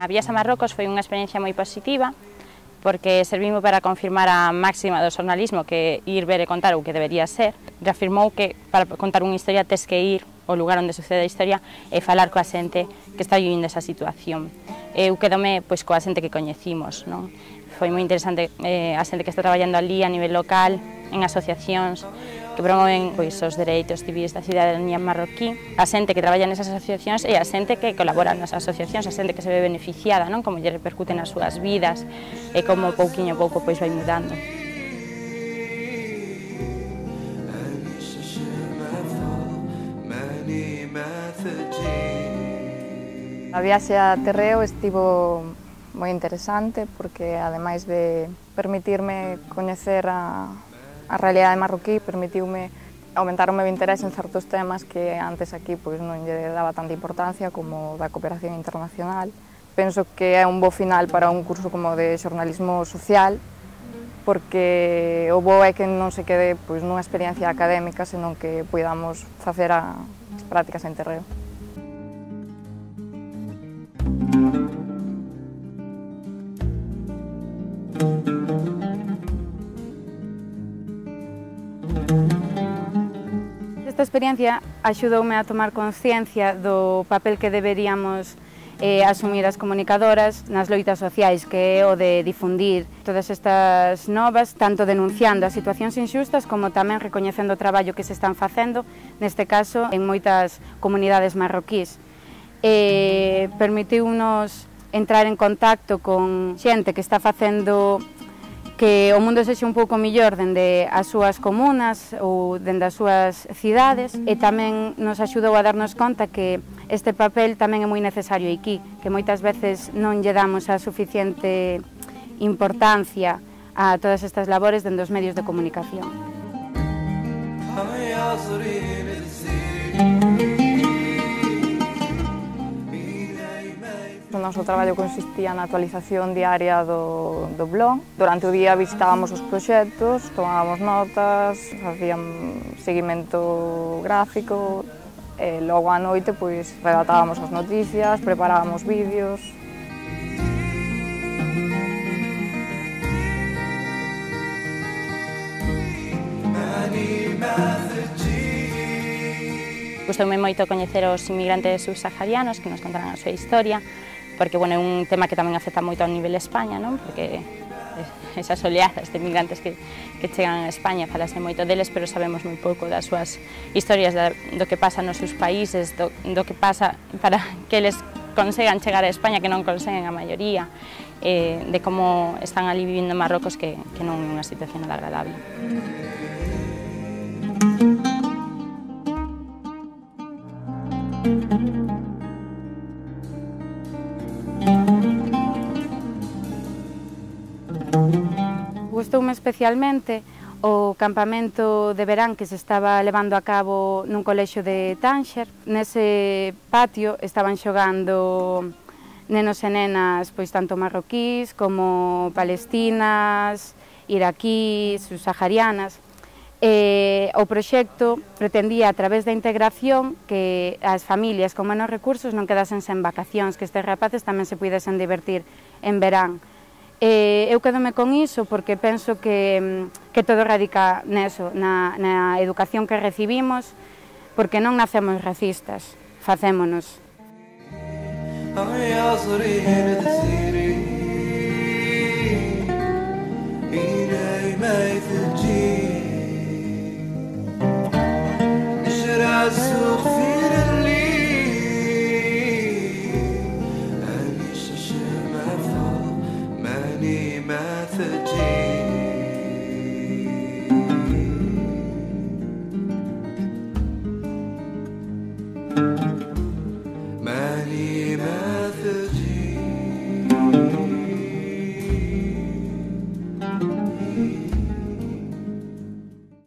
A viaxe a Marrocos foi unha experiencia moi positiva, porque servimos para confirmar a máxima do xornalismo que ir ver e contar o que debería ser. Reafirmou que para contar unha historia tes que ir ao lugar onde sucede a historia e falar coa xente que está vivindo esa situación. Eu quedome coa xente que coñecimos, non? Foi moi interesante a xente que está traballando ali a nivel local, en asociacións que promoven os dereitos civis da cidadanía marroquí, a xente que traballa nesas asociacións e a xente que colabora nas asociacións, a xente que se ve beneficiada, non? Como lle repercute nas súas vidas e como pouquiño a pouco vai mudando. A viaxe a Terreo estivo moi interesante porque, ademais de permitirme coñecer a realidade marroquí, permitiume aumentar o meu interese en certos temas que antes aquí non lle daba tanta importancia, como da cooperación internacional. Penso que é un bo final para un curso como de xornalismo social, porque o bo é que non se quede nunha experiencia académica, senón que podamos facer as prácticas en Terreo. Esta experiencia axudoume a tomar conciencia do papel que deberíamos asumir as comunicadoras nas loitas sociais, que é o de difundir todas estas novas, tanto denunciando as situacións inxustas como tamén recoñecendo o traballo que se están facendo, neste caso en moitas comunidades marroquís. Permitiu-nos entrar en contacto con xente que está facendo que o mundo sexa un pouco mellor dende as súas comunas ou dende as súas cidades, e tamén nos axudou a darnos conta que este papel tamén é moi necesario aquí, que moitas veces non lle damos a suficiente importancia a todas estas labores dende os medios de comunicación. O noso traballo consistía na actualización diaria do blog. Durante o día visitábamos os proxectos, tomábamos notas, facíamos seguimento gráfico e logo á noite redactábamos as noticias, preparábamos vídeos. Gustoume moito coñecer os inmigrantes subsaharianos que nos contaran a súa historia, porque é un tema que tamén afecta moito ao nivel España, non? Porque esas oleadas de inmigrantes que chegan a España, falase moito deles, pero sabemos moi pouco das súas historias, do que pasa nos seus países, do que pasa para que eles consigan chegar a España, que non conseguen a maioría, de como están ali vivindo en Marrocos, que non é unha situación nada agradable. Gustoume especialmente o campamento de verán que se estaba levando a cabo nun colexio de Tánxer. Nese patio estaban xogando nenos e nenas tanto marroquís como palestinas, iraquís, subsaharianas. O proxecto pretendía, a través da integración, que as familias con menos recursos non quedasen sen vacacións, que estes rapaces tamén se puidesen divertir en verán. Eu quedome con iso porque penso que todo radica neso, na educación que recibimos, porque non nacemos racistas, facémonos. السوق